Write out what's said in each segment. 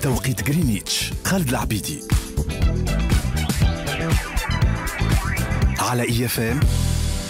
بتوقيت غرينتش، خالد العبيدي على IFM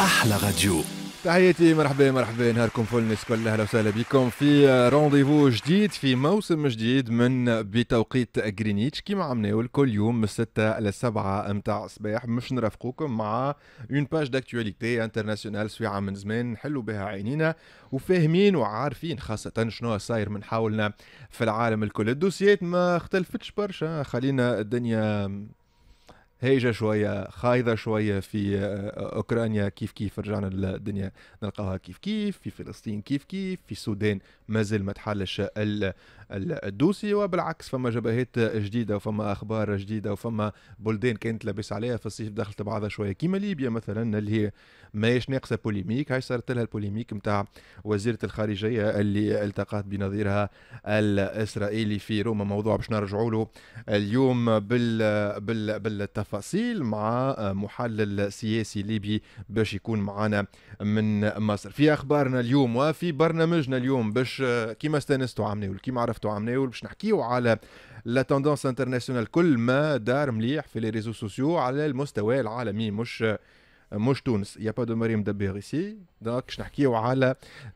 احلى راديو. تحياتي، مرحبا مرحبا، نهاركم فل الناس الكل، اهلا وسهلا بكم في rendez-vous جديد في موسم جديد من بتوقيت غرينيتش. كيما عملنا كل يوم من 6 ل 7 متاع الصباح مش نرافقوكم مع une page d'actualité internationale سويعه من زمان نحلوا بها عينينا وفاهمين وعارفين خاصة شنو صاير من حولنا في العالم الكل. الدوسيات ما اختلفتش برشا، خلينا الدنيا هايجة شوية خايضة شوية في أوكرانيا كيف كيف، رجعنا الدنيا نلقاها كيف كيف، في فلسطين كيف كيف، في السودان مازال ما تحلش ال dossier، وبالعكس فما جبهات جديدة وفما أخبار جديدة وفما بلدان كانت لاباس عليها في الصيف دخلت بعضها شوية كيما ليبيا مثلا اللي هي ماهيش ناقصة polémique، هاي صارت لها ال polémique نتاع وزيرة الخارجية اللي التقت بنظيرها الإسرائيلي في روما، موضوع باش نرجعوا له اليوم بالتفاصيل مع محلل سياسي ليبي باش يكون معنا من مصر. في أخبارنا اليوم وفي برنامجنا اليوم باش كيما استانستوا عمناول كيما عرفتوا عمناول باش نحكيو على la tendance internationale، كل ما دار مليح في les réseaux sociaux على المستوى العالمي، مش تونس، y a pas de مريم دبير ici، donc باش نحكيو على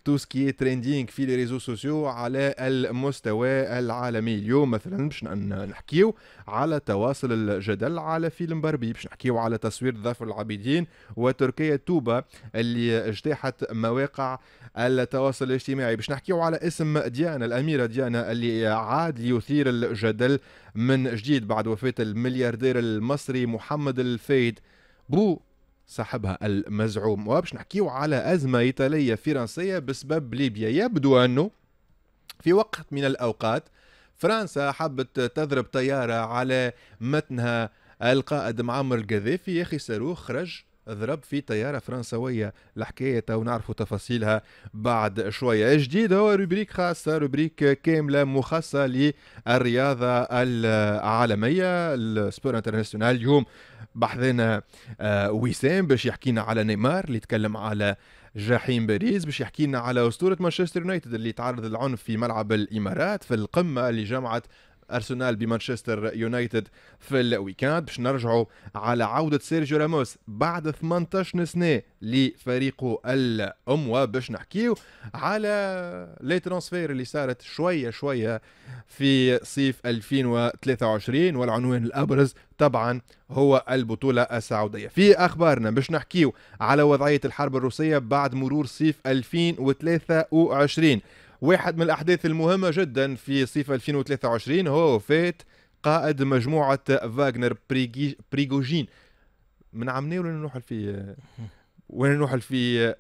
tout ce qui est trending في les réseaux sociaux على المستوى العالمي. اليوم مثلا باش نحكيو على تواصل الجدل على فيلم باربي، باش نحكيو على تصوير ظفر العابدين وتركيا توبا اللي اجتاحت مواقع التواصل الاجتماعي، باش نحكيو على اسم ديانا الأميرة ديانا اللي عاد ليثير الجدل من جديد بعد وفاة الملياردير المصري محمد الفايد بو صاحبها المزعوم، وباش نحكيو على أزمة إيطالية فرنسية بسبب ليبيا. يبدو أنه في وقت من الأوقات فرنسا حبت تضرب طيارة على متنها القائد معمر القذافي، يا أخي صاروخ خرج ضرب في طيارة فرنسوية. الحكاية تو نعرفوا تفاصيلها بعد شوية. جديد هو rubrique خاصة، rubrique كاملة مخصصة للرياضة العالمية، ال sport international. اليوم بحثنا وسام باش يحكينا على نيمار اللي يتكلم على جحيم باريس، باش يحكينا على أسطورة مانشستر يونايتد اللي تعرض للعنف في ملعب الإمارات في القمة اللي جمعت أرسنال بمانشستر يونايتد في ال week-end، باش نرجعوا على عودة سيرجيو راموس بعد 18 سنة لفريقه الأم، وباش نحكيو على les transferts اللي صارت شوية شوية في صيف 2023، والعنوان الأبرز طبعا هو البطولة السعودية. في أخبارنا باش نحكيو على وضعية الحرب الروسية بعد مرور صيف 2023. واحد من الأحداث المهمة جدا في صيف 2023 هو وفاة قائد مجموعة فاغنر بريغوجين. من عمناول وين نوحل في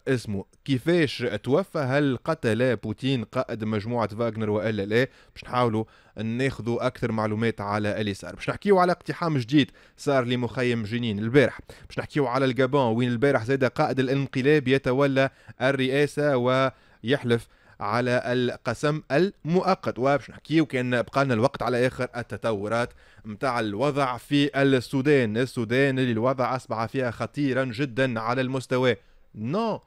اسمه، كيفاش توفى، هل قتل بوتين قائد مجموعة فاغنر وإلا لا؟ باش نحاولوا ناخذوا أكثر معلومات على اللي صار. باش نحكيو على اقتحام جديد صار لمخيم جنين البارح، باش نحكيو على الجابون وين البارح زاد قائد الانقلاب يتولى الرئاسة ويحلف على القسم المؤقت، وباش نحكيو كان بقى لنا الوقت على اخر التطورات متاع الوضع في السودان. السودان اللي الوضع اصبح فيها خطيرا جدا على المستوى non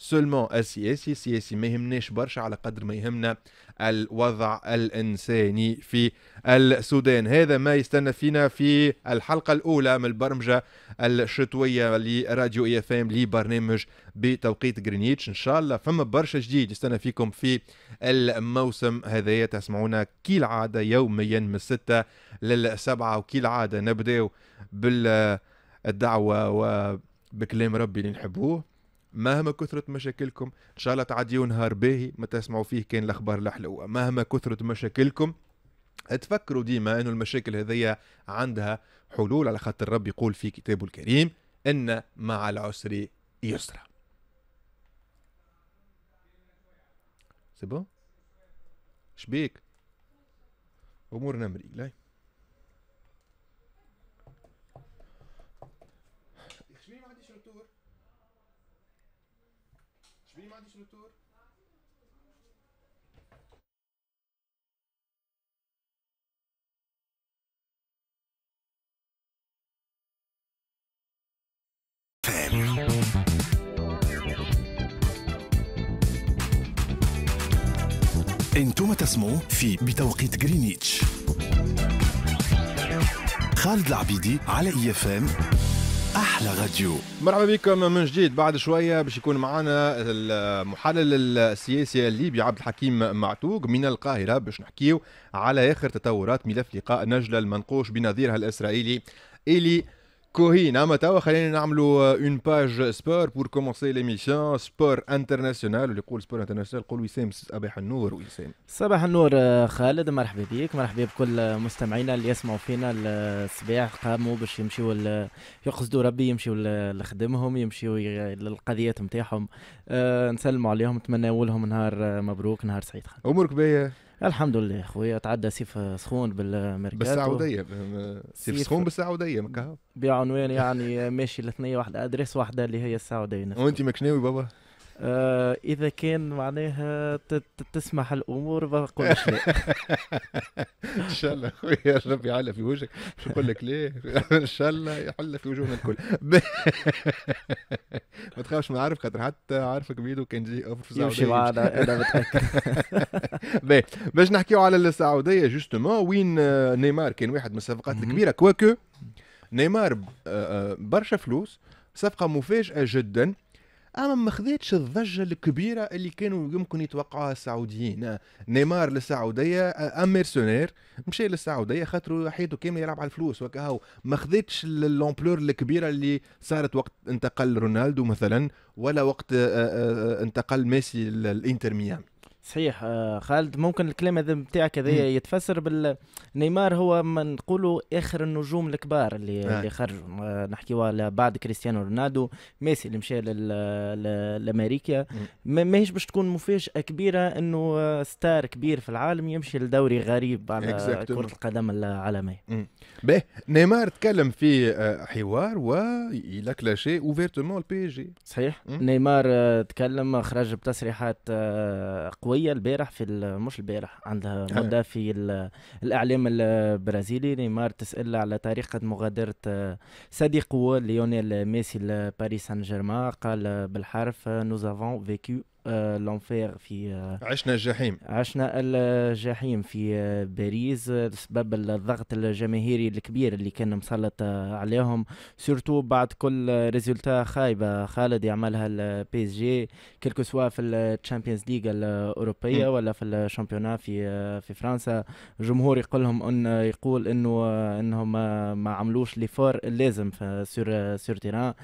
seulement السياسي، السياسي ما يهمناش برشا على قدر ما يهمنا الوضع الإنساني في السودان. هذا ما يستنى فينا في الحلقة الأولى من البرمجة الشتوية لراديو IFM لبرنامج بتوقيت غرينيتش. إن شاء الله فما برشا جديد يستنى فيكم في الموسم هذايا، تسمعونا كالعادة يوميا من 6 لل7، وكالعادة نبداو بالدعوة وبكلام ربي اللي نحبوه. مهما كثرت مشاكلكم ان شاء الله تعديوا نهار باهي ما تسمعوا فيه كان الاخبار الحلوة. مهما كثرت مشاكلكم تفكروا ديما انه المشاكل هذيا عندها حلول، على خاطر الرب يقول في كتابه الكريم ان مع العسر يسرا. c'est bon شبيك امورنا مريقله. ما عنديش retour. انتم تسمعوا في بتوقيت غرينتش. خالد العبيدي على IFM احلى راديو. مرحبا بكم من جديد. بعد شوية باش يكون معنا المحلل السياسي الليبي عبد الحكيم معتوق من القاهرة باش نحكيو على اخر تطورات ملف لقاء نجلة المنقوش بنظيرها الاسرائيلي إيلي كوهين. اما توا خلينا نعملوا une page sport pour commencer l'émission sport international. واللي يقول sport international قول وسام. صباح النور وسام. صباح النور خالد، مرحبا بك، مرحبا بكل مستمعينا اللي يسمعوا فينا الصباح، قاموا باش يمشيوا يقصدوا ربي، يمشيوا لخدمهم، يمشيوا للقضيات نتاعهم. نسلموا عليهم، نتمنوا لهم نهار مبروك، نهار سعيد. خالد امورك باهيه؟ الحمد لله خويا، تعدى صيف سخون بالميركاتو. بالسعودية، صيف سخون بالسعودية مكا بعنوان يعني ماشي لاثنيه واحدة، adresse واحدة اللي هي السعودية. وانت ماكش ناوي بابا؟ اذا كان معناها تسمح الامور بقولش لا. ان شاء الله خويا ربي يعلى في وجهك، باش نقول لك ليه، ان شاء الله يحل في وجوهنا الكل. ما تخافش من عارف، خاطر حتى عارفك بيدو كان جي offre في السعودية يمشي معنا، انا متاكد. باهي، باش نحكيو على السعودية justement، وين نيمار كان واحد من الصفقات الكبيرة، quoique نيمار برشا فلوس، صفقة مفاجاة جدا، اما ما خذتش الضجة الكبيرة اللي كانوا يمكن يتوقعوها السعوديين. نيمار للسعودية un mercenaire مشى للسعودية خاطر حياته كاملة يلعب على الفلوس وكهو، ما خذتش l'ampleur الكبيرة اللي صارت وقت انتقل رونالدو مثلا، ولا وقت انتقل ميسي للانتر ميامي. صحيح خالد، ممكن الكلام هذا نتاعك هذا يتفسر بالنيمار، هو ما نقولوا اخر النجوم الكبار اللي خرجوا، نحكيو على بعد كريستيانو رونالدو، ميسي اللي مشى لامريكا. ماهيش باش تكون مفاجاة كبيرة انه star كبير في العالم يمشي لدوري غريب على كره القدم العالمية. باهي، نيمار تكلم في حوار و il a clashé ouvertement ال PSG. صحيح، نيمار تكلم، خرج بتصريحات قوية البارح في مش البارح، عندها مدة في الإعلام البرازيلي. نيمار تسأل على طريقة مغادرة صديقه ليونيل ميسي لباريس سان جيرمان، قال بالحرف nous avons vécu l'enfer في عشنا الجحيم، عشنا الجحيم في باريس بسبب الضغط الجماهيري الكبير اللي كان مسلط عليهم، surtout بعد كل résultat خايبة خالد يعملها ال PSG، quel que soit في ال Champions League الاوروبية ولا في ال championnat في فرنسا. الجمهور يقول لهم ان يقول انه انهم ما عملوش l'effort اللازم في sur terrain،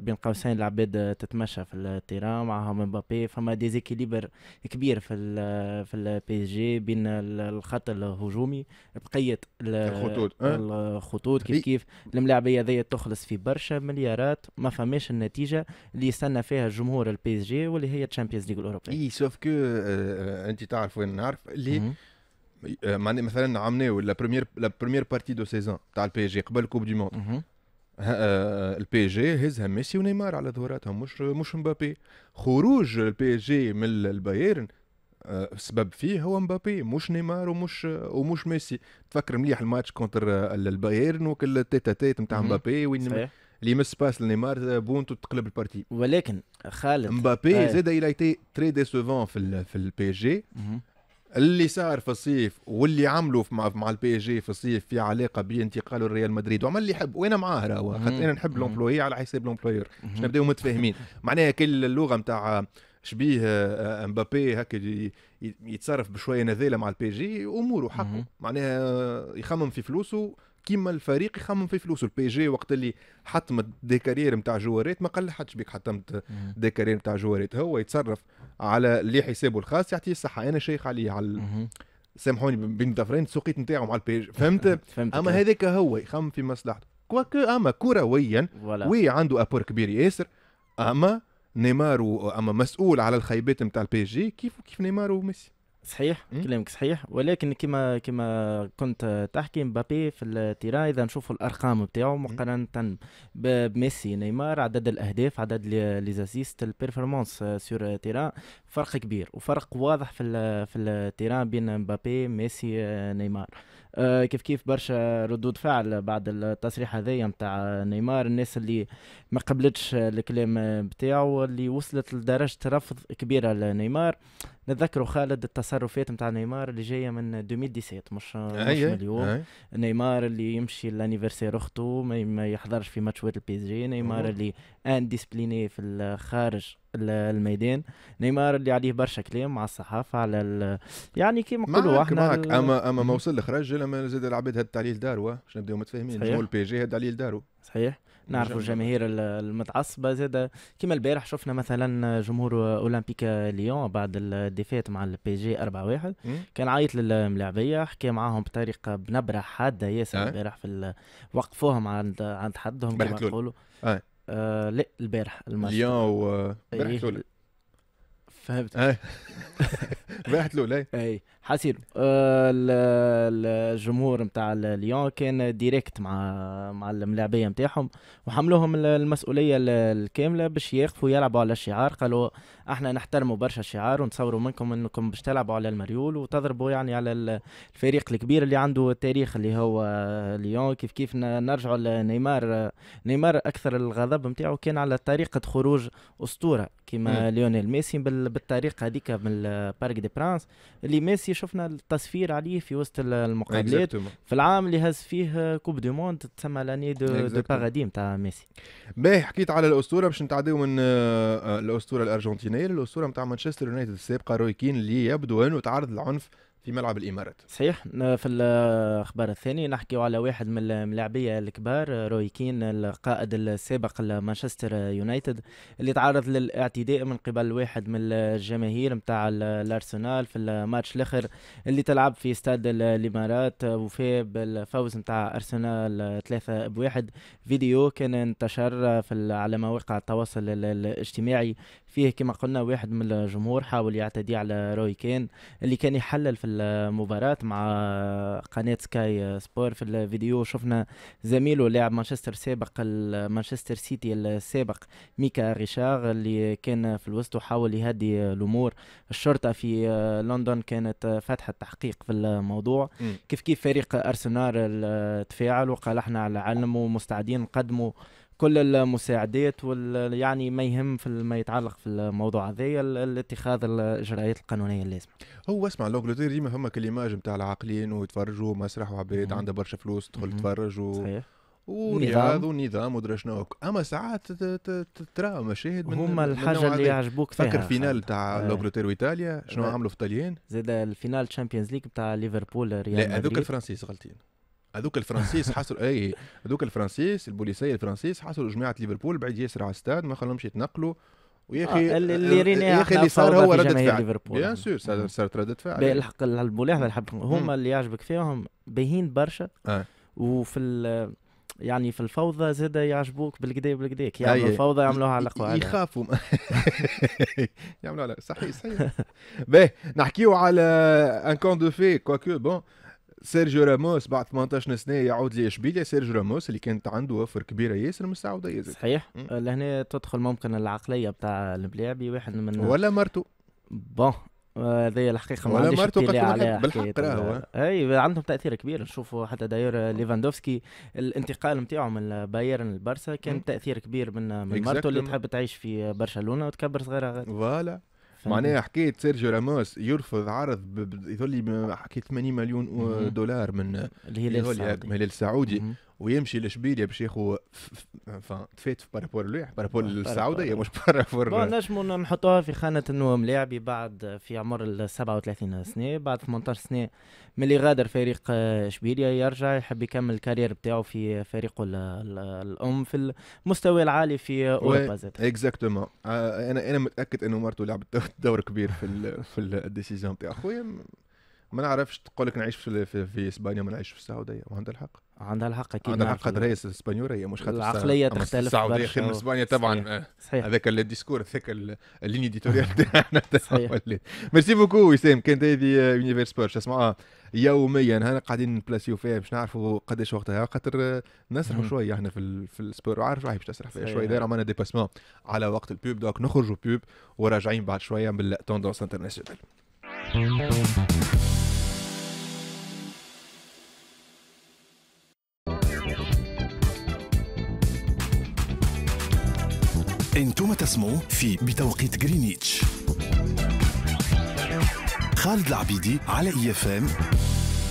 بين قوسين العباد تتمشى في ال terrain معهم مبابي، فما déséquilibre كبير في ال PSG بين الخط الهجومي بقية الخطوط. الخطوط كيف كيف الملاعبيه ذي تخلص في برشا مليارات، ما فماش النتيجة اللي يستنى فيها الجمهور ال PSG واللي هي Champions League الاوروبية. اي sauf que انت تعرف وين نعرف اللي معني مثلا عملناو la première partie de saison تاع ال PSG قبل Coupe du Monde، ال PSG هزها ميسي ونيمار على ظهوراتهم، مش مبابي. خروج ال PSG من البايرن السبب فيه هو مبابي، مش نيمار ومش ميسي. تفكر مليح ال match contre البايرن وكل tête-à-tête نتاع مبابي وين اللي يمس passe لنيمار بونتو تقلب ال partie. ولكن خالد مبابي زاد il a été très décevant في ال PSG. اللي صار في الصيف واللي عملوا مع ال PSG في الصيف في علاقة بانتقاله لريال مدريد، وعمل اللي يحب وانا معاه راهو، خاطر انا نحب l'employé على حساب l'employeur، باش نبداو متفاهمين. معناها كل اللغة نتاع شبيه مبابي هكا يتصرف بشوية نذاله مع ال PSG، اموره حقه، معناها يخمم في فلوسه كيما الفريق يخمم في فلوسه. ال PSG وقت اللي حطمت des carrières نتاع جوارات ما قال حدش بيك حطمت des carrières نتاع جوارات، هو يتصرف على اللي حسابه الخاص، يعطيه الصحة. انا شيخ عليه على سامحوني بين ظفرين السوقيت نتاعو مع ال PSG، فهمت؟ اما هذاك هو يخمم في مصلحته، quoique اما كرويا oui عنده apport كبير ياسر، اما نيمار اما مسؤول على الخيبات نتاع ال PSG كيف كيف نيمار وميسي. صحيح كلامك صحيح، ولكن كما كنت تحكي مبابي في ال terrain، اذا نشوفوا الارقام بتاعه مقارنة بميسي نيمار، عدد الاهداف، عدد les assists، ال performance sur terrain، فرق كبير وفرق واضح في ال terrain بين مبابي ميسي نيمار. كيف كيف برشا ردود فعل بعد التصريح هذايا نتاع نيمار، الناس اللي ما قبلتش الكلام بتاعه اللي وصلت لدرجة رفض كبيرة لنيمار. نتذكروا خالد التصرفات نتاع نيمار اللي جاية من 2017 مش من اليوم. نيمار اللي يمشي l'anniversaire اخته ما يحضرش في ماتشات ال PSG، نيمار اللي indiscipliné في الخارج الميدان، نيمار اللي عليه برشا كلام مع الصحافة على يعني كيما نقولوا احنا معك. اما ما وصل لخرج لما زاد العباد هد عليه لدارو، باش نبداو متفاهمين، جمهور ال PSG هد عليه لدارو. صحيح، نعرفوا الجماهير المتعصبه زاد كيما البارح شفنا مثلا جمهور اولمبيك ليون بعد ال défaite مع ال PSG 4-1 كان عيط للملاعبيه، حكى معاهم بطريقة بنبره حادة ياسر البارح في وقفوهم عند حدهم كما نقولوا. لا البارح الماتش ليون و البارح فهمت البارح الاولى اي حسير. الجمهور نتاع ليون كان direct مع الملاعبيه نتاعهم وحملوهم المسؤولية الكاملة باش يقفوا يلعبوا على الشعار. قالوا احنا نحترموا برشا الشعار ونتصوروا منكم انكم باش تلعبوا على المريول وتضربوا يعني على الفريق الكبير اللي عنده التاريخ اللي هو ليون. كيف كيف نرجعوا لنيمار، نيمار اكثر الغضب نتاعو كان على طريقه خروج اسطورة كيما ليونيل ميسي بالطريقة هذيك من ال Parc des Princes اللي ميسي شفنا التصفير عليه في وسط المقابلات في العام اللي هز فيه Coupe du Monde تسمى l'année de paradis نتاع ميسي. باهي، حكيت على الاسطورة باش نتعداو من الاسطورة الارجنتينية للاسطوره نتاع مانشستر يونايتد السابقة روي كين اللي يبدو انه تعرض للعنف في ملعب الامارات. صحيح. في الاخبار الثاني نحكيو على واحد من الملاعبيه الكبار روي كين القائد السابق لمانشستر يونايتد اللي تعرض للاعتداء من قبل واحد من الجماهير نتاع الارسنال في الماتش الاخر اللي تلعب في استاد الامارات وفي بالفوز نتاع ارسنال 3-1. فيديو كان انتشر في على مواقع التواصل الاجتماعي فيه كما قلنا واحد من الجمهور حاول يعتدي على روي كين اللي كان يحلل في المباراة مع قناة سكاي سبور. في الفيديو شفنا زميله لاعب مانشستر سابق مانشستر سيتي السابق ميكا ريشار اللي كان في الوسط وحاول يهدي الأمور. الشرطة في لندن كانت فتحت تحقيق في الموضوع. كيف كيف فريق أرسنال تفاعل وقال احنا على علم ومستعدين نقدموا كل المساعدات يعني ما يهم في ما يتعلق في الموضوع هذايا الاتخاذ الاجراءات القانونية اللازمة. هو اسمع l'Angleterre ديما فما ك l'image نتاع العاقلين ويتفرجوا مسرح وعباد عندها برشا فلوس تدخل تتفرج ورياض ونظام ودرا شنو، اما ساعات ترى مشاهد من هما الحاجة اللي يعجبوك فيها. فكر finale تاع l'Angleterre وايطاليا شنو عملوا في الطليان، زاد ال finale Champions League نتاع ليفربول ريال مدريد. لا هذوك الفرنسيس غلطين، هذوك الفرنسيس حصلوا اي هذوك الفرنسيس البوليسيه الفرنسيس حصلوا جماعة ليفربول بعيد ياسر على الستاد ما خلوهمش يتنقلوا. ويا اخي اللي يا اخي اللي صار هو ردة فعل bien sûr صارت ردة فعل. الحق الملاحظة اللي حاب هما اللي يعجبك فيهم باهين برشا وفي يعني في الفوضى زاد يعجبوك بالكدا بالكدا يعملوا الفوضى يعملوها على قواعد يخافوا يعملوا على صحيح صحيح. باهي نحكيو على un conte de fées quoique bon. سيرجيو راموس بعد 18 سنة يعود لاشبيليا. سيرجيو راموس اللي كانت عنده offre كبيرة ياسر من السعودية. صحيح. لهنا تدخل ممكن العقلية بتاع الملاعبي واحد من ولا مرته bon هذه الحقيقة ما عنديش اطلاع عليها بالحق راهو اي عندهم تاثير كبير. نشوفوا حتى d'ailleurs ليفاندوفسكي الانتقال نتاعو من بايرن للبرسا كان تاثير كبير من مرته اللي تحب تعيش في برشلونة وتكبر صغيرة voilà. معناها حكاية سيرجيو راموس يرفض عرض يظل حكاية 80 مليون دولار من الهلال السعودي ويمشي لاشبيليا باش ياخذ تفات par rapport par rapport للسعودية مش par rapport. نجموا نحطوها في خانه انه ملاعبي بعد في عمر ال 37 سنة بعد 18 سنة من اللي غادر فريق اشبيليا يرجع يحب يكمل ال carrière بتاعه في فريقه الام في المستوى العالي في اوروبا زاد. exactement. انا متاكد انه مرته لعبت دور كبير في ال décision تاع خويا. ما نعرفش تقول لك نعيش في اسبانيا ما نعيش في السعودية، وعندها الحق. عندها الحق اكيد، عندها الحق خاطر هي الاسبانيوريه مش خاطر العقلية تختلف. السعودية خير من اسبانيا طبعا. هذاك ال discours هذاك ال ligne éditoriale تاعنا. merci beaucoup وسام. كانت هذه Univers Sport تسمعوها يوميا، هنا قاعدين نبلاسيو فيها باش نعرفوا قداش وقتها خاطر نسرحوا شوية احنا في ال sport، وعارف روحي باش تسرح فيها شوية. داير عملنا dépassement على وقت ال pub، donc نخرجوا pub وراجعين بعد شوية بال tendance internationale. انتم تسمعوا في بتوقيت غرينتش. خالد العبيدي على IFM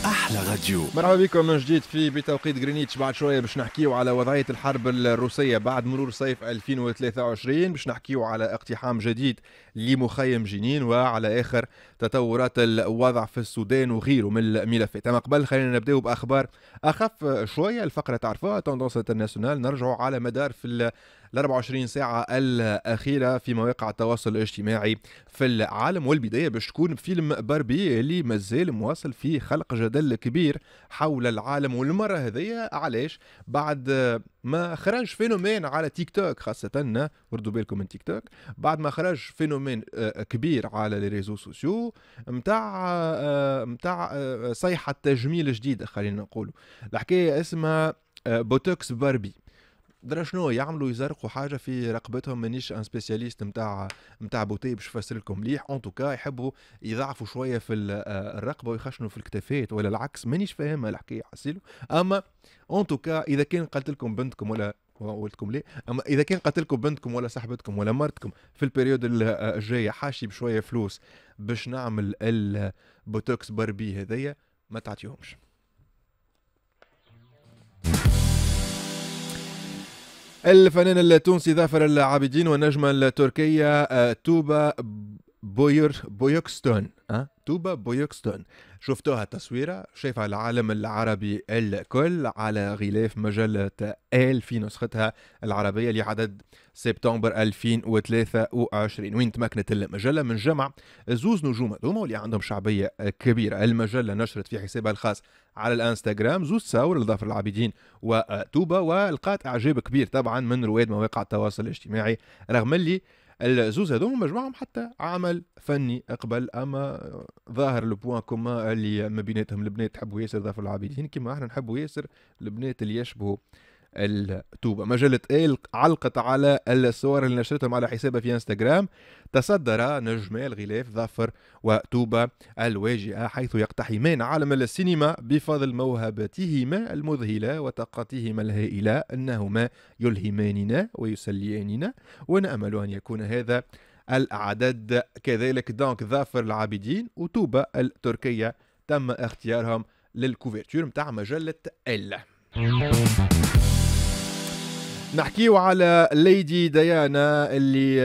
احلى راديو. مرحبا بكم من جديد في بتوقيت غرينتش. بعد شوية باش نحكيو على وضعية الحرب الروسية بعد مرور صيف 2023، باش نحكيو على اقتحام جديد لمخيم جنين وعلى اخر تطورات الوضع في السودان وغيره من الملفات. اما قبل خلينا نبداو باخبار اخف شوية. الفقرة تعرفوها tendance internationale، نرجعوا على مدار في ال 24 ساعة الأخيرة في مواقع التواصل الاجتماعي في العالم، والبداية باش تكون بفيلم باربي اللي مازال مواصل في خلق جدل كبير حول العالم. والمرة هذية علاش؟ بعد ما خرج phénomène على تيك توك، خاصة وردوا بالكم من تيك توك، بعد ما خرج phénomène كبير على les réseaux sociaux متاع صيحة تجميل جديدة، خلينا نقولوا الحكاية اسمها بوتوكس باربي. درا شنو يعملوا؟ يزرقوا حاجة في رقبتهم. مانيش un spécialiste نتاع beauté باش نفسر لكم مليح. en tout cas يحبوا يضعفوا شوية في الرقبة ويخشنوا في الكتافات ولا العكس، مانيش فاهمها الحكاية حسيلو. اما en tout cas اذا كان قالت لكم بنتكم ولا قلت ليه، اما اذا كان قالت لكم بنتكم ولا صاحبتكم ولا مرتكم في ال période الجاية حاشي بشوية فلوس باش نعمل البوتوكس باربي هذيا، ما تعطيهمش. الفنان التونسي ظافر العابدين والنجمة التركية توبا بويوكستون، توبا بويوكستون، شفتوها التصويرة شايفها العالم العربي الكل على غلاف مجلة Elle في نسختها العربية لعدد سبتمبر 2023، وين تمكنت المجلة من جمع زوز نجوم هذوما واللي عندهم شعبية كبيرة. المجلة نشرت في حسابها الخاص على الانستغرام زوز تصاور لظافر العابدين وتوبا، ولقات اعجاب كبير طبعا من رواد مواقع التواصل الاجتماعي، رغم اللي الزوز هذوما مجموعهم حتى عمل فني قبل. اما ظاهر le point commun اللي ما بيناتهم البنات تحبوا ياسر ظافر العابدين كما احنا نحبوا ياسر البنات اللي يشبهوا التوبة. مجلة Elle علقت على الصور اللي نشرتهم على حسابها في انستغرام. تصدر نجمي الغلاف ظافر وتوبة الواجهة، حيث يقتحمان عالم السينما بفضل موهبتهما المذهلة وطاقتهما الهائلة، أنهما يلهماننا ويسلياننا، ونأمل أن يكون هذا العدد كذلك. donc ظافر العابدين وتوبة التركية تم اختيارهم لل couverture متاع مجلة Elle. نحكيو على ليدي ديانا اللي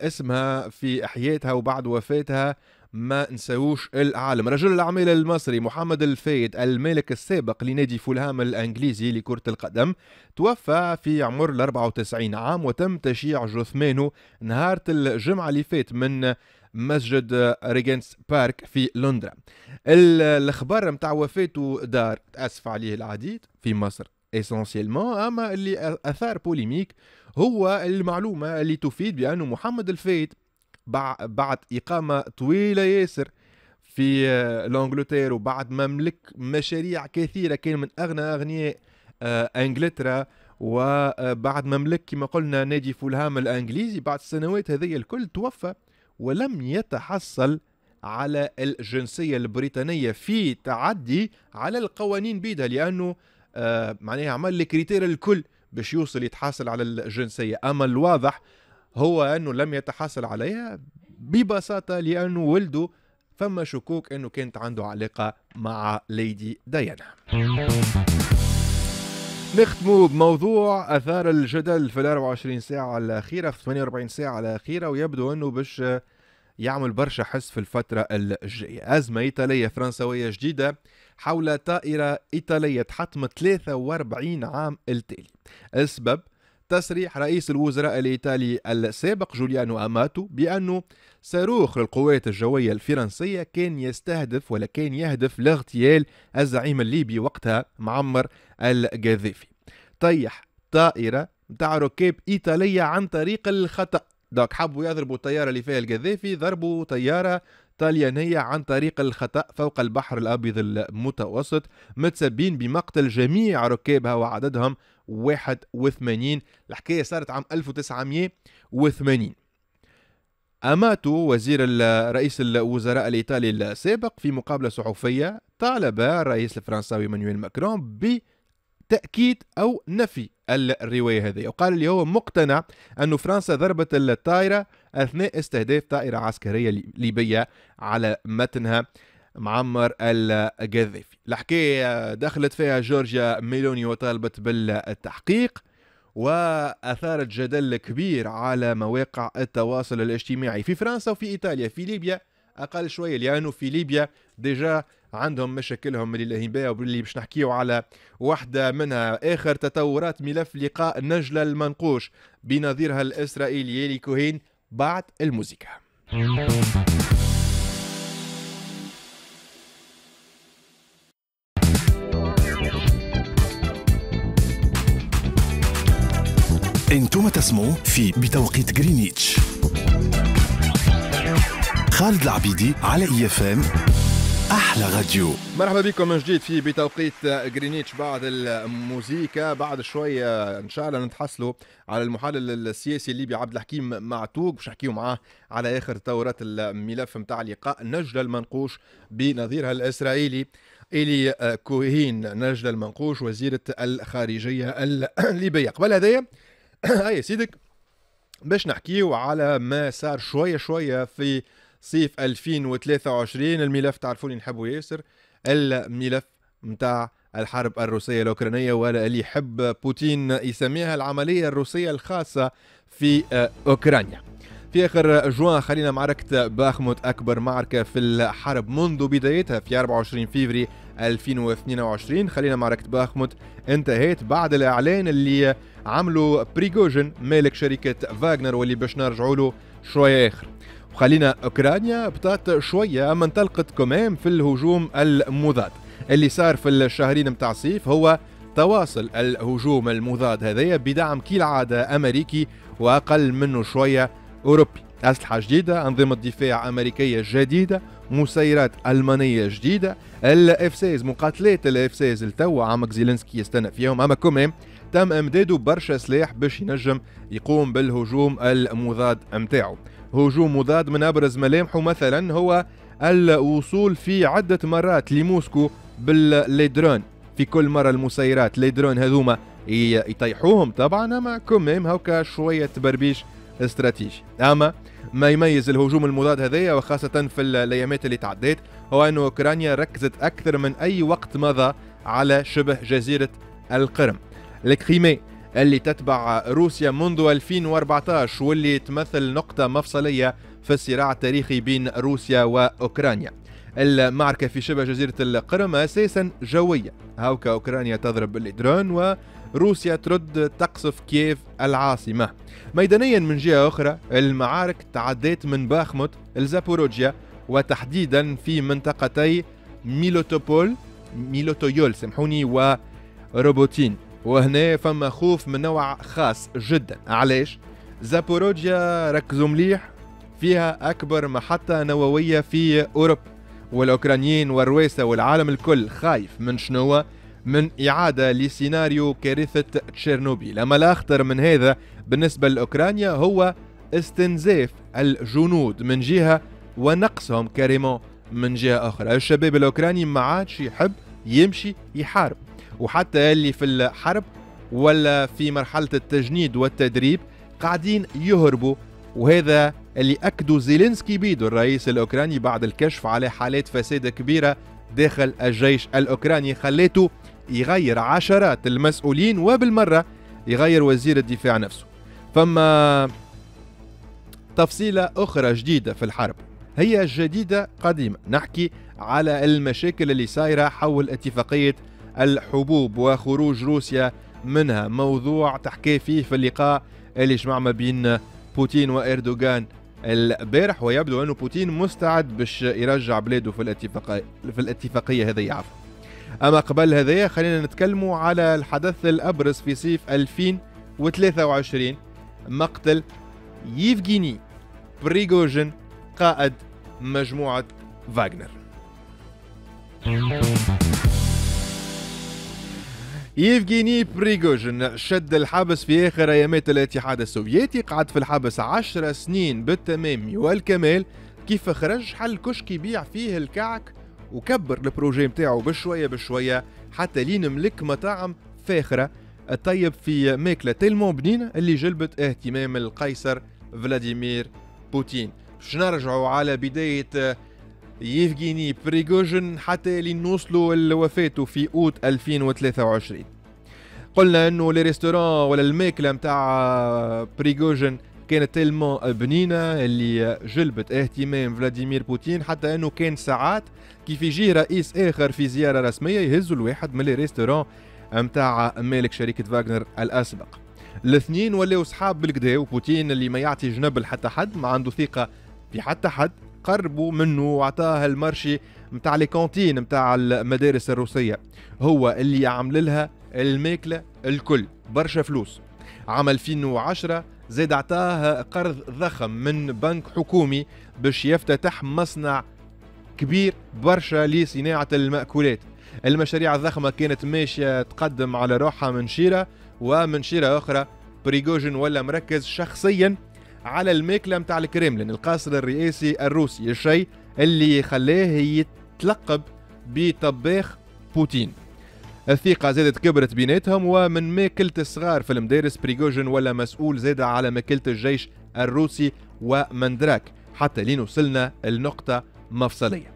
اسمها في حياتها وبعد وفاتها ما نساوش العالم. رجل الأعمال المصري محمد الفايد المالك السابق لنادي فولهام الأنجليزي لكرة القدم توفى في عمر 94 عام، وتم تشييع جثمانه نهار الجمعة اللي فات من مسجد ريجنس بارك في لندن. الأخبار متاع وفاته دار تأسف عليه العديد في مصر essentiellement، اما اللي اثار polémique هو المعلومة اللي تفيد بانه محمد الفايد بعد اقامه طويلة ياسر في l'Angleterre وبعد ما ملك مشاريع كثيرة، كان من اغنى اغنياء انجلترا، وبعد ما ملك كما قلنا نادي فولهام الانجليزي، بعد السنوات هذه الكل توفى ولم يتحصل على الجنسية البريطانية في تعدي على القوانين بيدها، لانه معناها عمل les critères الكل باش يوصل يتحصل على الجنسية. أما الواضح هو أنه لم يتحصل عليها ببساطة لأنه ولده فما شكوك أنه كانت عنده علاقة مع ليدي ديانا. نختموا بموضوع أثار الجدل في 24 ساعة الأخيرة، في 48 ساعة الأخيرة، ويبدو أنه باش يعمل برشا حس في الفترة الجاية. أزمة إيطالية فرنسوية جديدة حول طائرة إيطالية تحطمت 43 عام التالي. السبب تصريح رئيس الوزراء الإيطالي السابق جوليانو أماتو بأنه صاروخ للقوات الجوية الفرنسية كان يستهدف ولا كان يهدف لاغتيال الزعيم الليبي وقتها معمر القذافي. طيح طائرة متاع ركاب إيطالية عن طريق الخطأ. donc حبوا يضربوا الطيارة اللي فيها القذافي، ضربوا طيارة طليانية عن طريق الخطأ فوق البحر الأبيض المتوسط، متسبين بمقتل جميع ركابها وعددهم 81. الحكاية صارت عام 1980. أماتو وزير رئيس الوزراء الإيطالي السابق في مقابلة صحفية طالب الرئيس الفرنساوي مانويل ماكرون تأكيد أو نفي الرواية هذه، وقال اللي هو مقتنع أن فرنسا ضربت الطائرة أثناء استهداف طائرة عسكرية ليبية على متنها معمر القذافي. الحكاية دخلت فيها جورجيا ميلوني وطالبت بالتحقيق، وأثارت جدل كبير على مواقع التواصل الاجتماعي في فرنسا وفي إيطاليا. في ليبيا أقل شوية، لأنه في ليبيا déjà عندهم مشاكلهم اللي لاهين بها، واللي باش نحكيو على واحدة منها. آخر تطورات ملف لقاء نجلة المنقوش بنظيرها الإسرائيلي يلي كوهين بعد الموسيقى. انتم تسمعوا في بتوقيت غرينتش. خالد العبيدي على IFM احلى راديو. مرحبا بكم من جديد في بتوقيت غرينتش. بعد الموزيكا بعد شوية ان شاء الله نتحصلوا على المحلل السياسي الليبي عبد الحكيم معتوق باش نحكيو معاه على اخر تطورات الملف نتاع لقاء نجلة المنقوش بنظيرها الاسرائيلي إلي كوهين. نجلة المنقوش وزيرة الخارجية الليبية. قبل هذايا هيا سيدك باش نحكيو على ما صار شوية شوية في صيف 2023. الملف تعرفوني نحبه ياسر، الملف متاع الحرب الروسية الأوكرانية، ولا اللي يحب بوتين يسميها العملية الروسية الخاصة في أوكرانيا. في آخر جوان خلينا معركة باخموت، أكبر معركة في الحرب منذ بدايتها في 24 فيفري 2022. خلينا معركة باخموت انتهت بعد الإعلان اللي عمله بريغوجين مالك شركة فاغنر، واللي باش نرجعوا له شوية آخر. وخلينا أوكرانيا بطات شوية، أما انطلقت كمان في الهجوم المضاد اللي صار في الشهرين متاع الصيف. هو تواصل الهجوم المضاد هذايا بدعم كالعادة أمريكي وأقل منه شوية أوروبي. أسلحة جديدة، أنظمة دفاع أمريكية جديدة، مسيرات ألمانية جديدة، ال F-16 مقاتلات ال F-16 التو عمك زيلينسكي يستنى فيهم. أما كمان تم إمداده برشا سلاح باش ينجم يقوم بالهجوم المضاد متاعه. هجوم مضاد من أبرز ملامحه مثلا هو الوصول في عدة مرات لموسكو ب les drones. في كل مرة المسيرات les drones هذوما يطيحوهم طبعا، أما كمان هوكا شوية تبربيش استراتيجي. أما ما يميز الهجوم المضاد هذايا وخاصة في الأيامات اللي تعديت هو أن أوكرانيا ركزت أكثر من أي وقت مضى على شبه جزيرة القرم، ال Crimée اللي تتبع روسيا منذ 2014 واللي تمثل نقطة مفصلية في الصراع التاريخي بين روسيا وأوكرانيا. المعركة في شبه جزيرة القرم أساسا جوية، هاوكا أوكرانيا تضرب بال drones وروسيا ترد تقصف كييف العاصمة. ميدانيا من جهة أخرى المعارك تعدت من باخموت لزابوروجيا، وتحديدا في منطقتي ميلوتويول سامحوني وروبوتين. وهنا فما خوف من نوع خاص جدا. علاش؟ زابوروجيا ركزوا مليح فيها أكبر محطة نووية في أوروبا، والأوكرانيين والرواسة والعالم الكل خايف من شنو؟ من إعادة لسيناريو كارثة تشيرنوبيل. أما الأخطر من هذا بالنسبة لأوكرانيا هو استنزاف الجنود من جهة ونقصهم carrément من جهة أخرى. الشباب الأوكراني ما عادش يحب يمشي يحارب، وحتى اللي في الحرب ولا في مرحلة التجنيد والتدريب قاعدين يهربوا، وهذا اللي أكدوا زيلينسكي بيدو الرئيس الأوكراني بعد الكشف على حالات فساد كبيرة داخل الجيش الأوكراني خليته يغير عشرات المسؤولين وبالمرة يغير وزير الدفاع نفسه. فما تفصيلة أخرى جديدة في الحرب، هي جديدة قديمة، نحكي على المشاكل اللي صايرة حول اتفاقية الحبوب وخروج روسيا منها، موضوع تحكي فيه في اللقاء اللي جمع ما بين بوتين وإردوغان البارح، ويبدو أنه بوتين مستعد باش يرجع بلاده في الاتفاقية هذه عفوا. أما قبل هذايا خلينا نتكلموا على الحدث الأبرز في صيف 2023، مقتل يفغيني بريغوجين قائد مجموعة فاغنر. يفغيني بريغوجين شد الحبس في آخر أيامات الاتحاد السوفيتي، قعد في الحبس 10 سنين بالتمام والكمال. كيف خرج حل كشك يبيع فيه الكعك وكبر ال projet متاعه بشوية بشوية حتى لين ملك مطاعم فاخرة طيب في ماكلة tellement بنينة اللي جلبت اهتمام القيصر فلاديمير بوتين. باش نرجعوا على بداية يفغيني بريغوجين حتى لنوصلوا لوفاته في أوت 2023. قلنا انه les restaurants ولا الماكلة نتاع بريغوجين كانت tellement بنينه اللي جلبت اهتمام فلاديمير بوتين، حتى انه كان ساعات كيف يجي رئيس اخر في زيارة رسمية يهزوا الواحد من les restaurants نتاع مالك شركة فاغنر الاسبق. الاثنين ولاو صحاب بالكدا، وبوتين اللي ما يعطي جنب لحتى حد، ما عنده ثقة في حتى حد، قربوا منه وعطاه ال marché نتاع les cantines نتاع المدارس الروسية، هو اللي عمل لها الماكلة الكل، برشا فلوس. عام 2010 زاد عطاه قرض ضخم من بنك حكومي باش يفتتح مصنع كبير برشا لصناعة المأكولات. المشاريع الضخمة كانت ماشية تقدم على روحها من شيرة، ومن شيرة أخرى بريغوجين ولا مركز شخصيا على الماكلة متاع الكريملين، القصر الرئاسي الروسي، الشيء اللي خلاه يتلقب بطباخ بوتين. الثقة زادت كبرت بيناتهم، ومن ماكلة الصغار في المدارس بريغوجين ولا مسؤول زاد على ماكلة الجيش الروسي ومندراك، حتى لين وصلنا النقطة مفصلية.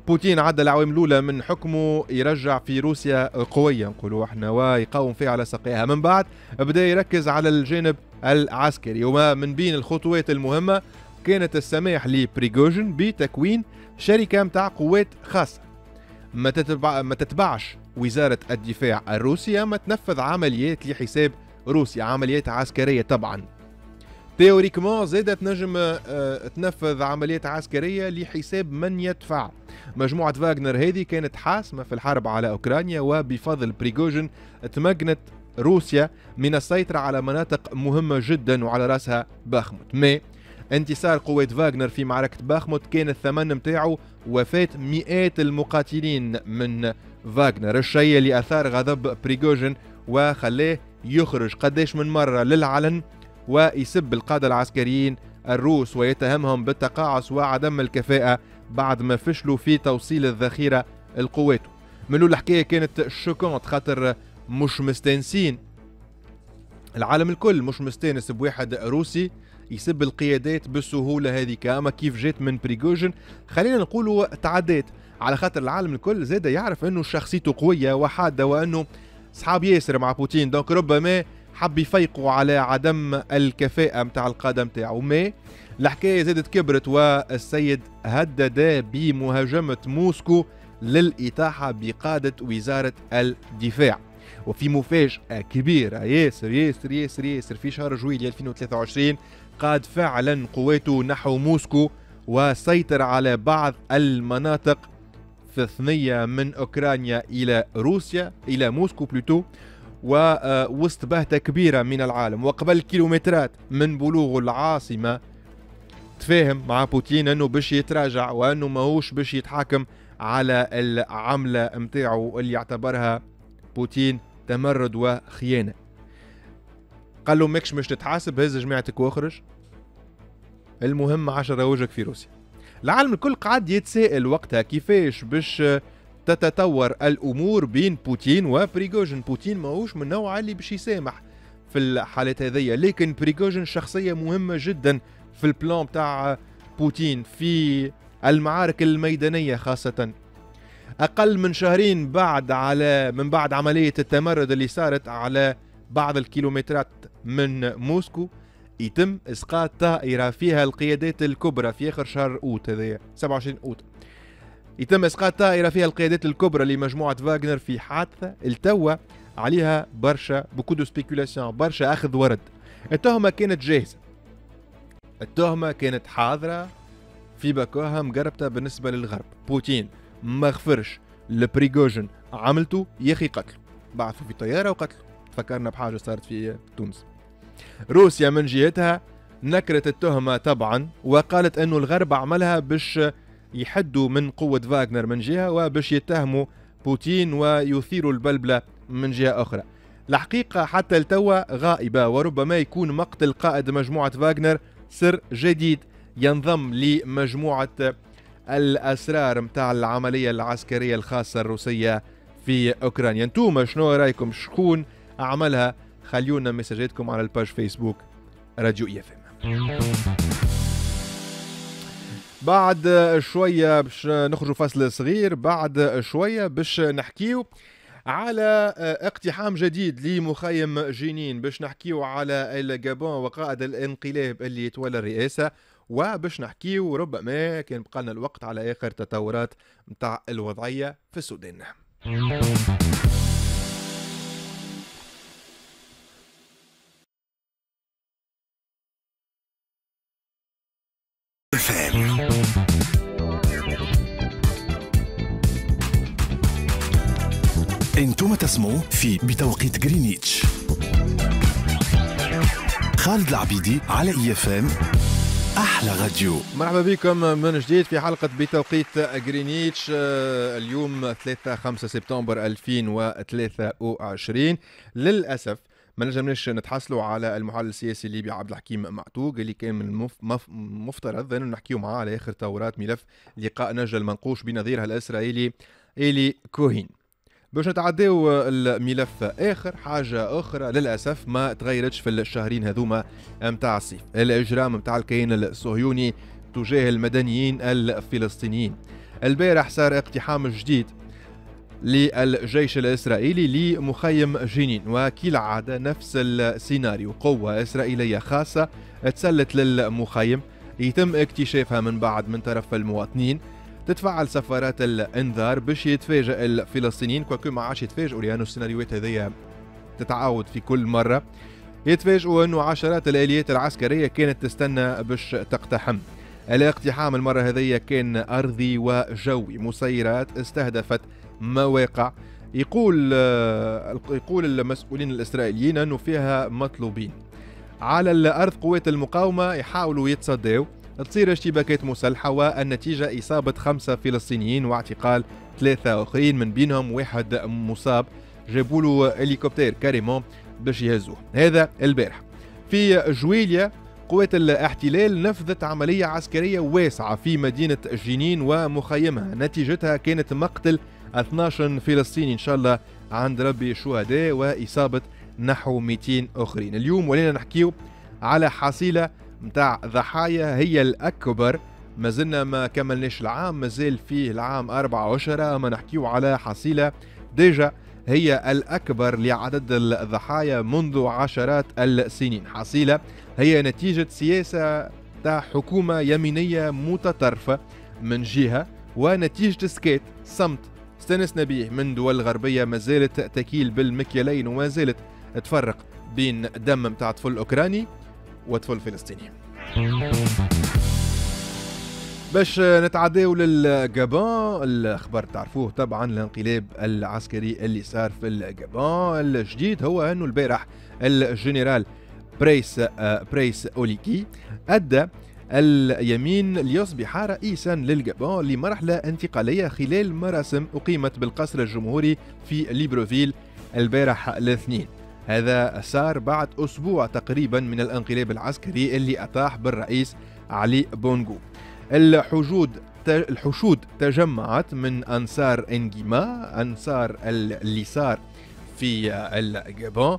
بوتين عدى العوام الأولى من حكمه يرجع في روسيا قوية نقولوا احنا، ويقاوم فيها على ساقيها. من بعد بدأ يركز على الجانب العسكري، وما من بين الخطوات المهمة كانت السماح لبريغوجين بتكوين شركة متاع قوات خاصة ما تتبعش وزارة الدفاع الروسية، ما تنفذ عمليات لحساب روسيا، عمليات عسكرية طبعا. théoriquement زادت تنجم تنفذ عمليات عسكرية لحساب من يدفع. مجموعة فاغنر هذه كانت حاسمة في الحرب على أوكرانيا، وبفضل بريغوجين تمكنت روسيا من السيطرة على مناطق مهمة جدا وعلى رأسها باخموت. mais انتصار قوات فاغنر في معركة باخموت كان الثمن متاعه وفاة مئات المقاتلين من فاغنر، الشيء اللي أثار غضب بريغوجين وخلاه يخرج قداش من مرة للعلن ويسب القادة العسكريين الروس ويتهمهم بالتقاعس وعدم الكفاءة بعد ما فشلوا في توصيل الذخيرة لقواته. من الحكاية كانت choquante، خاطر مش مستانسين، العالم الكل مش مستانس بواحد روسي يسب القيادات بالسهولة هذيك. أما كيف جات من بريغوجين خلينا نقولوا تعدات، على خاطر العالم الكل زاد يعرف أنه شخصيته قوية وحادة وأنه صحاب ياسر مع بوتين، donc ربما حب يفيقوا على عدم الكفاءة متاع القادة متاعه. mais الحكاية زادت كبرت، والسيد هدد بمهاجمة موسكو للإطاحة بقادة وزارة الدفاع. وفي مفاجأة كبيرة ياسر ياسر ياسر ياسر، في شهر جويلية 2023 قاد فعلا قواته نحو موسكو وسيطر على بعض المناطق في ثنية من أوكرانيا إلى روسيا، إلى موسكو plutôt، ووسط بهتة كبيرة من العالم. وقبل كيلومترات من بلوغ العاصمة تفاهم مع بوتين أنه باش يتراجع وأنه ماهوش باش يتحاكم على العملة متاعه اللي يعتبرها بوتين تمرد وخيانة. قال له ماكش مش تتحاسب، هز جماعتك واخرج، المهم 10 وجهك في روسيا. العالم الكل قعد يتساءل وقتها كيفاش باش تتطور الأمور بين بوتين وبريغوجين. بوتين ماهوش من النوع اللي باش يسامح في الحالات هذية، لكن بريغوجين شخصية مهمة جدا في ال plan تاع بوتين في المعارك الميدانية خاصة. أقل من شهرين بعد من بعد عملية التمرد اللي صارت على بعض الكيلومترات من موسكو، يتم إسقاط طائرة فيها القيادات الكبرى في آخر شهر أوت هذايا 27 أوت. يتم إسقاط طائرة فيها القيادات الكبرى لمجموعة فاغنر في حادثة التوى عليها برشا beaucoup de spéculations، برشا أخذ ورد. التهمة كانت جاهزة، التهمة كانت حاضرة في باكوها مقربتها بالنسبة للغرب. بوتين ما غفرش لبريغوجين عملته، يا أخي قتله، بعثوا في طيارة وقتله. تفكرنا بحاجة صارت في تونس. روسيا من جهتها نكرت التهمة طبعا، وقالت أنه الغرب عملها باش يحدوا من قوة فاغنر من جهة، وباش يتهموا بوتين ويثيروا البلبلة من جهة أخرى. الحقيقة حتى التوا غائبة، وربما يكون مقتل قائد مجموعة فاغنر سر جديد ينضم لمجموعة الأسرار متاع العملية العسكرية الخاصة الروسية في أوكرانيا. انتوما شنو رايكم؟ شكون عملها؟ خليونا مساجاتكم على ال page فيسبوك راديو IFM. بعد شوية باش نخرجوا فاصل صغير، بعد شوية باش نحكيو على اقتحام جديد لمخيم جنين، باش نحكيو على الجابون وقائد الانقلاب اللي يتولى الرئاسة، وباش نحكيو ربما كان بقى لنا الوقت على آخر تطورات متاع الوضعية في السودان. انتم تسمعوا في بتوقيت غرينتش. خالد العبيدي على IFM احلى راديو. مرحبا بكم من جديد في حلقة بتوقيت غرينتش، اليوم 3-5 سبتمبر 2023. للأسف ما نجمناش نتحصلوا على المحلل السياسي الليبي عبد الحكيم معتوق اللي كان من المفترض انه نحكيو معاه على اخر تطورات ملف لقاء نجل المنقوش بنظيرها الاسرائيلي إيلي كوهين. باش نتعداو الملف اخر، حاجة اخرى للاسف ما تغيرتش في الشهرين هذوما متاع الصيف، الاجرام متاع الكيان الصهيوني تجاه المدنيين الفلسطينيين. البارح صار اقتحام جديد للجيش الإسرائيلي لمخيم جنين، وكالعادة نفس السيناريو، قوة إسرائيلية خاصة تسلت للمخيم، يتم اكتشافها من بعد من طرف المواطنين، تتفعل سفارات الانذار باش يتفاجئ الفلسطينيين، quoique ما عادش يتفاجئوا لأنه السيناريوهات هذيا تتعاود في كل مرة. يتفاجئوا أنه عشرات الآليات العسكرية كانت تستنى باش تقتحم. الاقتحام المرة هذيا كان أرضي وجوي، مسيرات استهدفت مواقع يقول المسؤولين الإسرائيليين أنه فيها مطلوبين. على الأرض قوات المقاومة يحاولوا يتصدوا، تصير اشتباكات مسلحة، والنتيجة إصابة 5 فلسطينيين واعتقال 3 آخرين، من بينهم واحد مصاب جابوا له هليكوبتر carrément باش يهزوه. هذا البارح. في جويليا قوات الاحتلال نفذت عملية عسكرية واسعة في مدينة جنين ومخيمها، نتيجتها كانت مقتل 12 فلسطيني إن شاء الله عند ربي شهداء، وإصابة نحو 200 آخرين. اليوم ولينا نحكيو على حصيلة متاع ضحايا هي الأكبر، ما زلنا ما كملناش العام، مازال فيه العام 4 أشهر، ما نحكيو على حصيلة déjà هي الأكبر لعدد الضحايا منذ عشرات السنين. حصيلة هي نتيجة سياسة تاع حكومة يمينية متطرفة من جهة، ونتيجة سكات صمت استنسنا به من دول غربية ما زالت تكيل بالمكيالين وما زالت تفرق بين دم متاع طفل أوكراني وطفل فلسطيني. باش نتعداو للجابون، الخبر تعرفوه طبعا، الانقلاب العسكري اللي صار في الجابون. الجديد هو انه البارح الجنرال بريس اوليكي ادى اليمين ليصبح رئيسا للجابون لمرحلة انتقالية خلال مراسم أقيمت بالقصر الجمهوري في ليبروفيل البارح الاثنين. هذا صار بعد أسبوع تقريبا من الانقلاب العسكري اللي أطاح بالرئيس علي بونغو. الحشود تجمعت من أنصار إنجيما، أنصار اليسار في الجابون.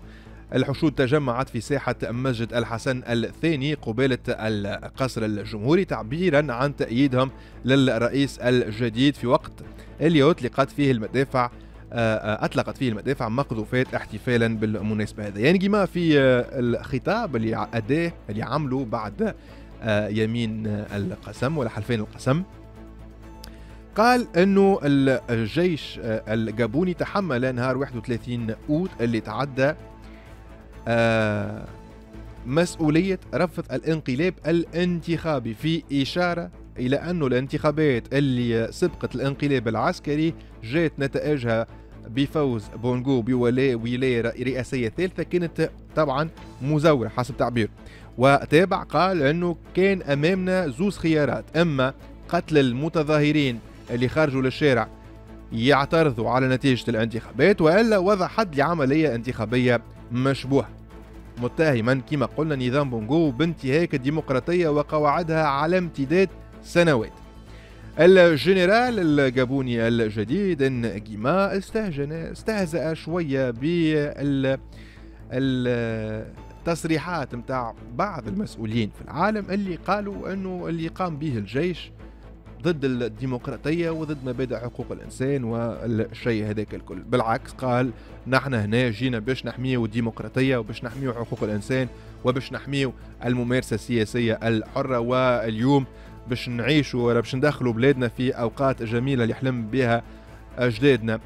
الحشود تجمعت في ساحة مسجد الحسن الثاني قبالة القصر الجمهوري تعبيرا عن تأييدهم للرئيس الجديد، في وقت اللي أطلقت فيه المدافع مقذوفات احتفالا بالمناسبة هذا. يعني جماعة في الخطاب اللي أداه اللي عمله بعد يمين القسم ولا حلفين القسم، قال انه الجيش الجابوني تحمل نهار 31 اوت اللي تعدى مسؤولية رفض الانقلاب الانتخابي، في إشارة إلى أنه الانتخابات اللي سبقت الانقلاب العسكري جات نتائجها بفوز بونغو بولاية رئاسية ثالثة كانت طبعا مزورة حسب تعبيره. وتابع قال أنه كان أمامنا زوز خيارات، إما قتل المتظاهرين اللي خرجوا للشارع يعترضوا على نتيجة الانتخابات، وإلا وضع حد لعملية انتخابية مشبوهة، متهما كما قلنا نظام بونغو بانتهاك الديمقراطية وقواعدها على امتداد سنوات. الجنرال الجابوني الجديد نجيما استهزأ شوية بالتصريحات متاع بعض المسؤولين في العالم اللي قالوا أنه اللي قام به الجيش ضد الديمقراطية وضد مبادئ حقوق الإنسان والشيء هذاك الكل. بالعكس قال نحن هنا جينا باش نحميو الديمقراطية وباش نحميو حقوق الإنسان وباش نحميو الممارسة السياسية الحرة، واليوم باش نعيشوا ولا باش ندخلوا بلادنا في أوقات جميلة اللي حلم بها أجدادنا،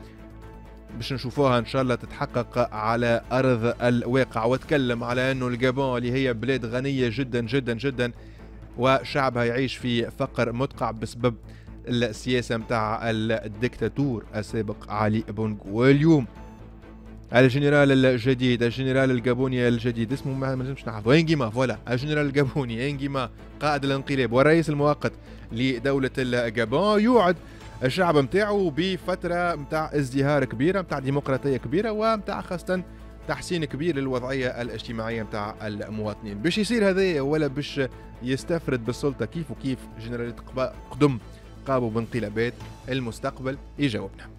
باش نشوفوها إن شاء الله تتحقق على أرض الواقع. وتكلم على أنه الجابون اللي هي بلاد غنية جدا جدا جدا وشعبها يعيش في فقر مدقع بسبب السياسة متاع الدكتاتور السابق علي بونغو. واليوم الجنرال الجديد، الجنرال الجابوني الجديد اسمه ما نجمش نعرفه، انجيما، voilà، الجنرال الجابوني انجيما قائد الانقلاب والرئيس المؤقت لدولة الجابون، يوعد الشعب متاعه بفترة متاع ازدهار كبيرة، متاع ديمقراطية كبيرة، ومتاع خاصة تحسين كبير للوضعية الاجتماعية متاع المواطنين. باش يصير هذا ولا باش يستفرد بالسلطة كيف وكيف جنرالات قدم قاموا بانقلابات، المستقبل يجاوبنا.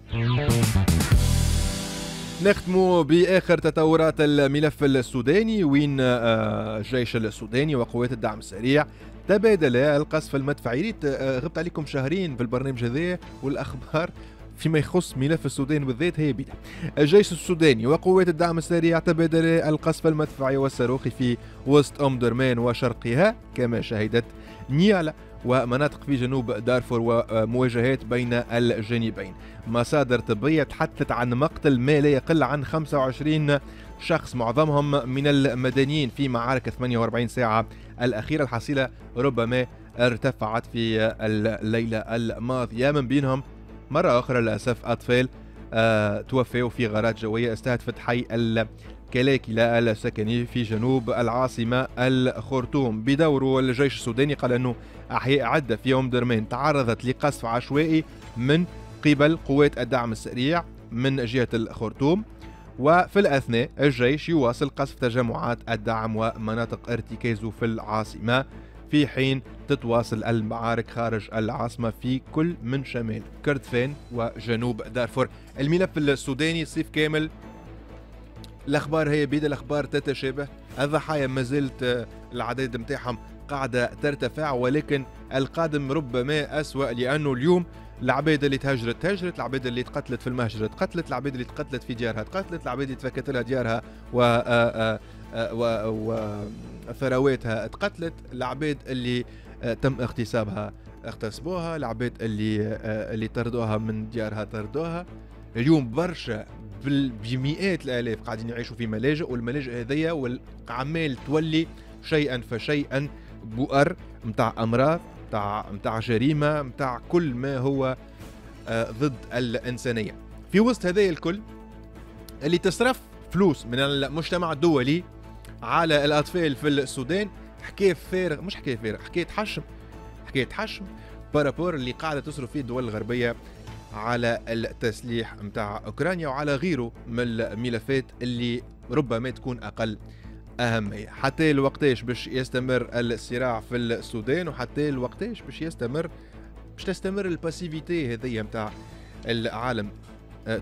نختم بآخر تطورات الملف السوداني، وين الجيش السوداني وقوات الدعم السريع تبادل القصف المدفعي. غبت عليكم شهرين في البرنامج هذا والأخبار فيما يخص ملف السودان بالذات هي بيدا. الجيش السوداني وقوات الدعم السريع تبادل القصف المدفعي والصاروخي في وسط أم درمان وشرقها، كما شهدت نيالا ومناطق في جنوب دارفور ومواجهات بين الجانبين. مصادر طبية تحدثت عن مقتل ما لا يقل عن 25 شخص معظمهم من المدنيين في معارك 48 ساعة الأخيرة. الحصيلة ربما ارتفعت في الليلة الماضية، من بينهم مرة أخرى للأسف أطفال توفوا في غارات جوية استهدفت حي الكلاكلة السكني في جنوب العاصمة الخرطوم. بدوره الجيش السوداني قال أنه أحياء عدة في أم درمان تعرضت لقصف عشوائي من قبل قوات الدعم السريع من جهة الخرطوم، وفي الأثناء الجيش يواصل قصف تجمعات الدعم ومناطق ارتكازه في العاصمة، في حين تتواصل المعارك خارج العاصمة في كل من شمال كردفان وجنوب دارفور. الملف السوداني صيف كامل الأخبار هي بيد، الأخبار تتشابه، الضحايا ما زلت العدد متاعهم قاعدة ترتفع، ولكن القادم ربما أسوأ، لأنه اليوم العباد اللي تهجرت تهجرت، العباد اللي تقتلت في المهجر تقتلت، العباد اللي تقتلت في ديارها تقتلت، العباد اللي تفكت لها ديارها وثرواتها تقتلت، العباد اللي تم اغتصابها اغتصبوها، العباد اللي طردوها من ديارها طردوها. اليوم برشا بمئات الالاف قاعدين يعيشوا في ملاجئ، والملاجئ هذيا والعمال تولي شيئا فشيئا بؤر متاع امراض، متاع جريمة، متاع كل ما هو ضد الانسانية. في وسط هذا الكل اللي تصرف فلوس من المجتمع الدولي على الاطفال في السودان، حكاية فارغ، مش حكاية فارغ، حكاية تحشم، حكاية تحشم par rapport اللي قاعدة تصرف فيه الدول الغربية على التسليح متاع اوكرانيا وعلى غيره من الملفات اللي ربما تكون اقل أهمية. حتى الوقتاش باش يستمر الصراع في السودان، وحتى الوقتاش باش يستمر باش تستمر ال passivité هذيا متاع العالم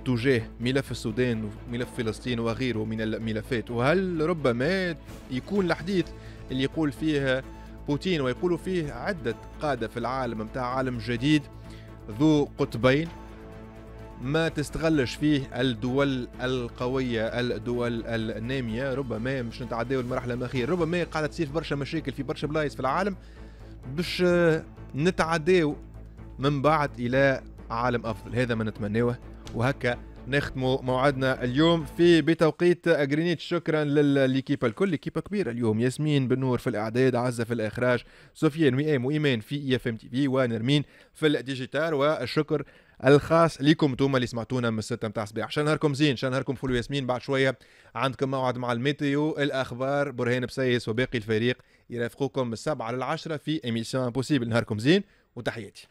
تجاه ملف السودان وملف فلسطين وغيره من الملفات. وهل ربما يكون الحديث اللي يقول فيه بوتين ويقول فيه عدة قادة في العالم متاع عالم جديد ذو قطبين ما تستغلش فيه الدول القوية الدول النامية، ربما مش نتعداو المرحلة الأخيرة، ربما قاعدة تصير برشا مشاكل في برشا بلايص في العالم باش نتعداو من بعد إلى عالم أفضل. هذا ما نتمناه. وهكا نختموا موعدنا اليوم في بتوقيت غرينيتش. شكرا لل l'équipe الكل، l'équipe كبيرة اليوم، ياسمين بنور في الاعداد، عزه في الاخراج، سفيان وئام وايمان في IFM TV، ونرمين في ال digital. والشكر الخاص لكم انتم اللي سمعتونا من 6 متاع الصباح. عشان نهاركم زين، عشان نهاركم فل وياسمين. بعد شوية عندكم موعد مع ال météo، الاخبار، برهان بسيس وباقي الفريق يرافقوكم من 7 ل 10 في émission impossible. نهاركم زين وتحياتي.